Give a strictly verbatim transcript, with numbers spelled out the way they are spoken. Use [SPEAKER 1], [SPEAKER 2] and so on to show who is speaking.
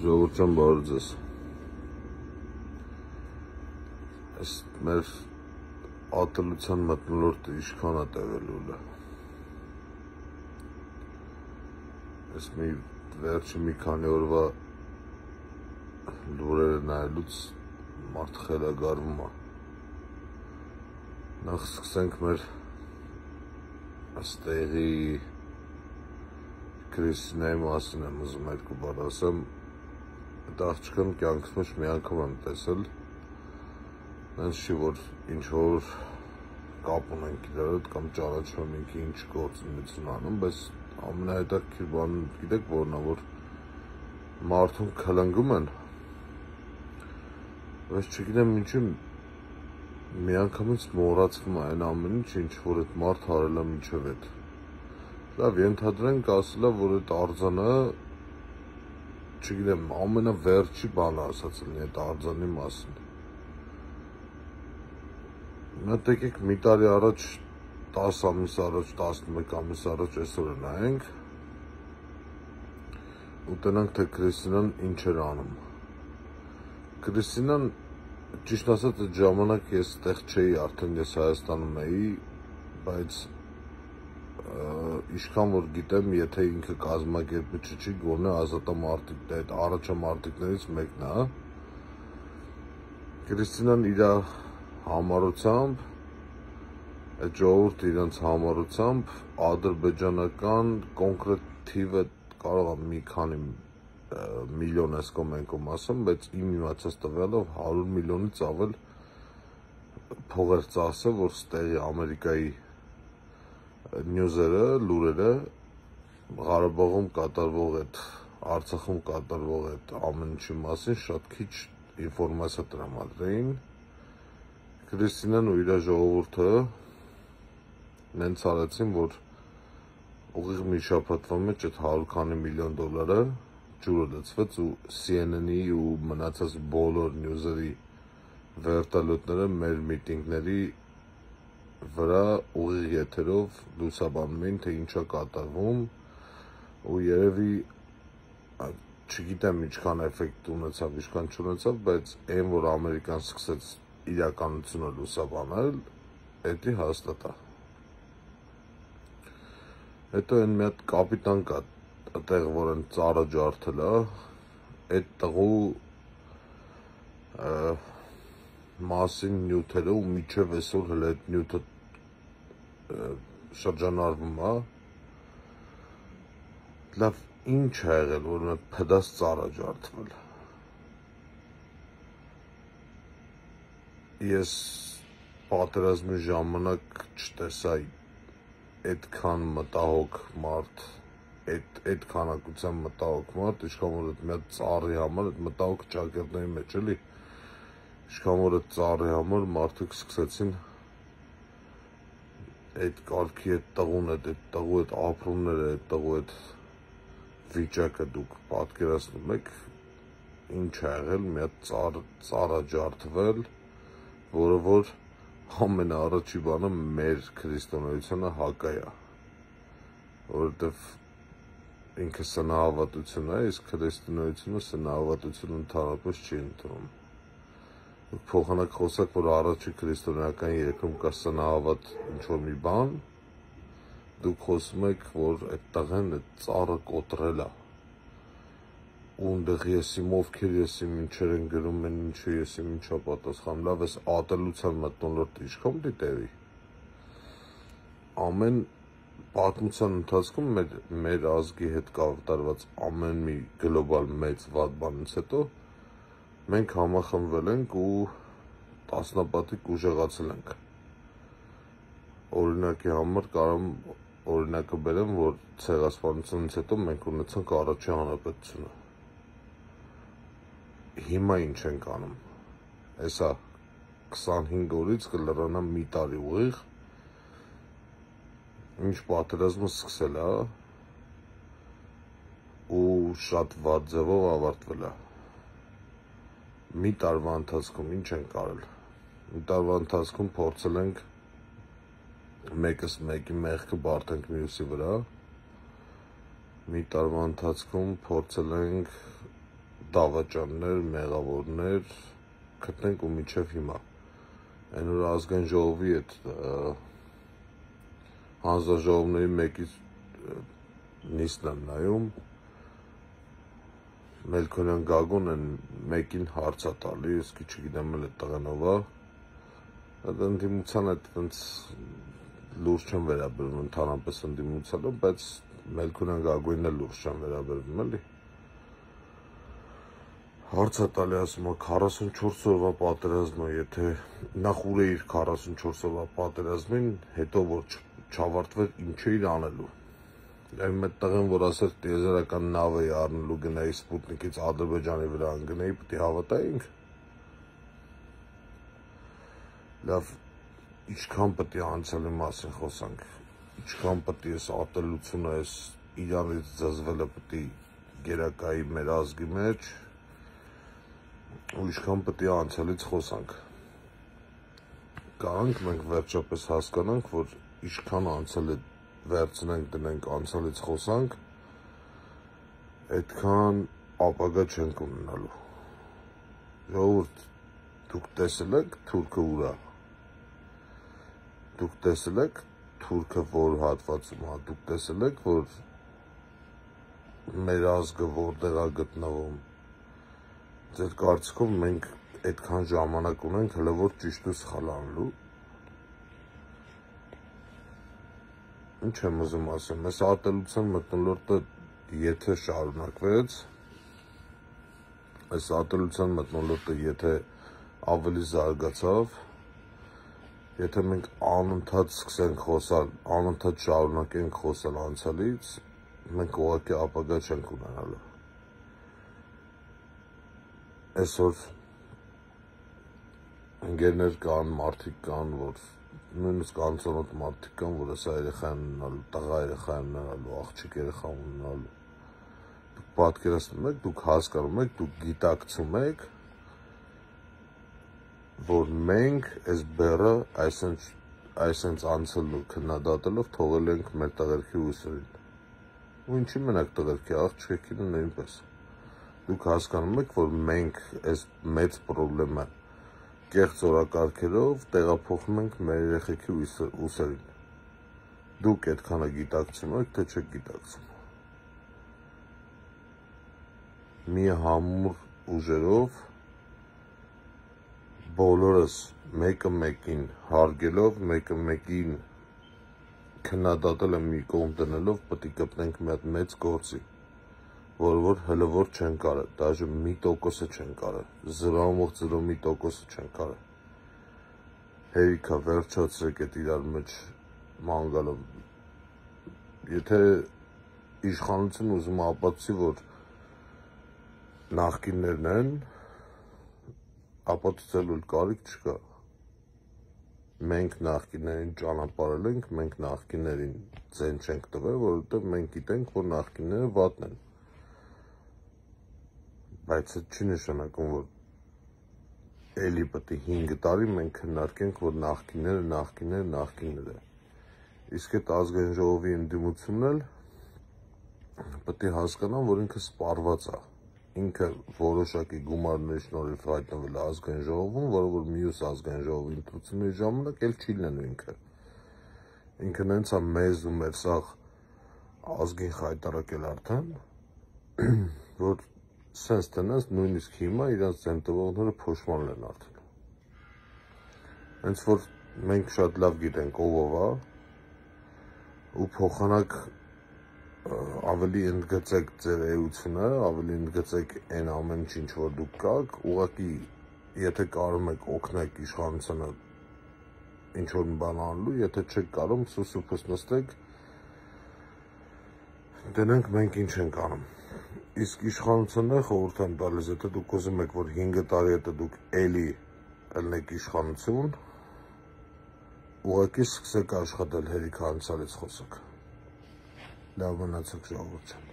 [SPEAKER 1] Ժողովրդյան բարև ձեզ։ Այս մեր ատելության մթնոլորտը ինչքան է տևելու է։ Այս մի վերջի մի քանի օրվա լուրերը նայելուց մարդ խելագարվում է։ Նախ սկսենք մեր այստեղի Քրիստինայի մասին եմ ուզում երկու բառ ասեմ։ Այդ աղջկան կյանքս մեջ մի անգամ եմ տեսել, այնց չի, որ ինչ-որ կապ ունենք իրար հետ կամ ճանաչում ենք ինչ գործունեություն անում, բայց ամենահետաքրքիր բանը գիտեք որն է, որ մարդուն քլնգում են, բայց չգիտեմ ինչու միանգամից մոռացվում է այն ամեն ինչ, ինչ որ այդ մարդը արել է մինչև այդ։ Լավ, ենթադրենք ասել է, որ այդ արձանը, չգիտեմ, ամենավերջի բանը ասած լինի այդ արձանի մասին։ Մենք եկեք մի տարի առաջ, տաս ամիս առաջ, տասնմեկ ամիս առաջ այսօրը նայենք ու տնանք, թե Քրիստինան ինչ էր անում։ Քրիստինան, ճիշտ ասած, այդ ժամանակ ես տեղ չէի, արդեն ես Հայաստանում էի, բայց ինչքան որ գիտեմ, եթե ինքը կազմակերպիչը չի, գոնե ազատամարտիկներ, այդ առաջամարտիկներից մեկն է։ Քրիստինան իր համառությամբ, այդ ժողովուրդը իրենց համառությամբ ադրբեջանական կոնկրետ թիվը կարող է մի քանի միլիոն այս կողմ այն կողմ ասեմ, բայց իմ իմացած տվյալով հարյուր միլիոնից ավել փող էր ծախսել, որ ստեղի Ամերիկայի նյուզերը, լուրերը Ղարաբաղում կատարվող այդ, Արցախում կատարվող այդ ամեն ինչի մասին շատ քիչ ինֆորմացիա տրամադրեին։ Քրիստինան ու իր ժողովուրդը նենց արեցին, որ ուղիղ մի շաբաթվա մեջ այդ հարյուր քանի միլիոն դոլարը ջուրը լցվեց ու C N N-ի ու մնացած բոլոր նյուզերի վերտալյոտները մեր միտինգների վրա ուղիղ եթերով լուսաբանում էին, թե ինչա կատարվում ու երևի չգիտեմ ինչքան էֆեկտ ունեցավ, ինչքան չունեցավ, բայց այն, որ Ամերիկան սկսեց իրականությունը լուսաբանել, էդի հաստատ է։ Հետո այն մի հատ կապիտան կա այդտեղ, որ են ծառը ջարդել է, այդ տղու մասին նյութերը ու միջև այսօր հələ այդ նյութը շրջանառվում է։ Լավ, ինչ է եղել, որ մի փդած ծառ է ջարդվել։ Ես պատերազմի ժամանակ չտեսա այդքան մտահոգ մարդ, այդ այդ քանակության մտահոգ մարդ, ինչքան որ այդ մի հատ ծառի համար, այդ մտահոգ ճակերտների մեջ էլի, ինչքան որ այդ ծառի համար մարդիկ սկսեցին այդ կարգի այդ տղուն, այդ տղու այդ ապրումները, այդ տղու այդ վիճակը դուք պատկերացնում եք, ինչ է եղել, մի հատ ծառ ծառ է ջարդվել, որը որ ամենաառաջի բանը մեր քրիստոնեությունը հակա է, որովհետև ինքը սնահավատություն է, իսկ քրիստոնեությունը սնահավատություն ընդհանրապես չի ընդունում։ Դուք փոխանակ խոսակ, որ առաջի քրիստոնեական երեկում կա սնահավատ ինչ-որ մի բան, դուք խոսում եք, որ այդ տղեն այդ ծառը կոտրել է, ու ընդեղ եսիմ ովքեր եսիմ ինչեր են գրում են, ինչը եսիմ ինչա պատասխան, լավ ես ատելության մթնոլորտը ինչքան պիտի տևի։ Ամեն պատմության ընթացքում մեր, մեր ազգի հետ կատարված ամեն մի գլոբալ մեծ վատ բանից հետո մենք համախմբվել ենք ու տասնապատիկ ուժեղացել ենք։ Օրինակի համար կարող օրինակը բերեմ, որ ցեղասպանությունից հետո մենք ունեցանք առաջին հանրապետությունը։ Հիմա ինչ ենք անում։ Հեսա քսանհինգ օրից կլրանա մի տարի ուղիղ, ինչ պատերազմը սկսել է ու շատ վատ ձևով ավարտվել է։ Մի տարվա ընթացքում ինչ ենք արել։ Մի տարվա ընթացքում փորձել ենք մեկս մեկի մեղքը բարդենք մյուսի վրա։ Մի տարվա ընթացքում փորձել ենք դավաճաններ, մեղավորներ գտնենք ու մինչև հիմա։ Այն որ ազգային ժողովի այդ հանձնաժողովների մեկից նիստն եմ նայում, Մելքոնյան Գագոն են մեկին հարց է տալի, իսկի չգիտեմ էլ այդ տղենով է, ընդդիմության այդ լուրջ չեմ վերաբերվում, ընդհանրապես ընդդիմությանը, բայց Մելքոնյան Գագոյին էլ լուրջ չեմ վերաբերվում, էլի։ Հարց է տալի, ասում է քառասունչորս օրվա պատերազմը, եթե նախ ուր էիր քառասունչորս օրվա պատերազմին, հետո որ չավարտվեր, ինչ էիր անելու։ Այն մեծ տղեն, որ ասեր տիեզերական նավ էի առնելու գնայի Սպուտնիկից Ադրբեջանի վրա անգնեի, պետք է հավատայինք։ Լավ, ինչքան պետք է անցյալի մասին խոսանք, ինչքան պետք է այս ատելությունը, այս իրանից զզվելը պետք է գերակայի մեր ազգի մեջ, ու ինչքան պետք է անցյալից խոսանք։ Կարանք մենք վերջապես հասկանանք, որ ինչքան անցյալը վերցնենք, դնենք, անցյալից խոսանք, այդքան ապագա չենք ունենալու։ Ժողովուրդ, դուք տեսել եք թուրքը ուր է։ Դուք տեսել եք թուրքը որ հատվածում է, դուք տեսել եք, որ մեր ազգը որտեղ է գտնվում։ Ձեր կարծիքով մենք այդքան ժամանակ ունենք, հələ որ ճիշտ ու սխալ անելու։ Ինչ եմ ուզում ասեմ, այս ատելության մթնոլորտը եթե շարունակվեց, այս ատելության մթնոլորտը եթե ավելի զարգացավ, եթե մենք անընդհատ սկսենք խոսալ, անընդհատ շարունակենք խոսալ անցյալից, մենք ուղղակի ապագա չենք ունենալու։ Այսօր ընկերներ կան, մարդիկ կան, որ նույնիսկ անծանոթ մարդիկ կան, որ ասա երեխա են ունենալու, տղա երեխա են ունենալու, աղջիկ երեխա ունենալու։ Դուք պատկերացնում եք, դուք հասկանում եք, դուք գիտակցում եք, որ մենք այս բեռը այսենց անցելու քննադատելով թողել ենք մեր տղերքի ուսերին։ Ու ինչի մենակ տղերքի, աղջիկին նույնպես։ Դուք հասկանում եք, որ մենք այս մեծ պրոբլեմը կեղծ օրակարգերով տեղափոխում ենք մեր երեխեքի ուսերին։ Դուք այդքանը գիտակցում եք, թե չեք գիտակցում։ Մի համուր ուժերով բոլորս մեկը մեկին հարգելով, մեկը մեկին քննադատել եմ մի կողմ դնելով, պետք է գտնենք մի հատ մեծ գործի, որը որ հələ որ չեն կարել, դաժե մի տոկոսը չեն կարել, զրոմող զրո մի տոկոսը չեն կարել։ Հերիքա վերջացրեք այդ իրար մեջ մանգալը։ Եթե իշխանությունը ուզում է ապացուցի, որ նախկիններն են, ապացուցելու կարիք չկա։ Մենք նախկիններին ճանապարհել ենք, մենք նախկիններին ձեն չենք տվել, որովհետև մենք գիտենք, որ նախկինները վատն են։ Բայց այդ չի նշանակում, որ էլի պետք է հինգ տարի մենք քննարկենք, որ նախկինները, նախկինները, նախկինները։ Իսկ այդ ազգային ժողովի ընդդիմությունն էլ պետք է հասկանան, որ ինքը սպառված է։ Ինքը որոշակի գումարների շնորհիվ հայտնվել է ազգային ժողովում, որը որ մյուս ազգային ժողովի ընտրությունների ժամանակ էլ չի լինելու ինքը։ Ինքը նենց է մեզ ու մեր սաղ ազգին խայտարակել արդեն, որ սենց տնես նույնիսկ հիմա իրանց ձեն տվողները փոշմանել են արդեն։ Հենց որ մենք շատ լավ գիտենք ով ով է, ու փոխանակ ավելի ընդգծեք ձեր էությունը, ավելի ընդգծեք այն ամեն ինչ, որ դուք կաք, ուղղակի եթե կարում եք օգնեք իշխանությանը ինչ-որ բան անելու, եթե չեք կարող, սուսուփս նստեք, դնենք մենք ինչ ենք անում։ Իսկ իշխանությունը խորհուրդ եմ տալիս, եթե դուք ուզում եք, որ հինգ տարի հետո դուք էլի ելնեք իշխանություն, ուղղակի սկսեք աշխատել, հերիք անցյալից խոսեք։ Լավ մնացեք ժողովուրդ։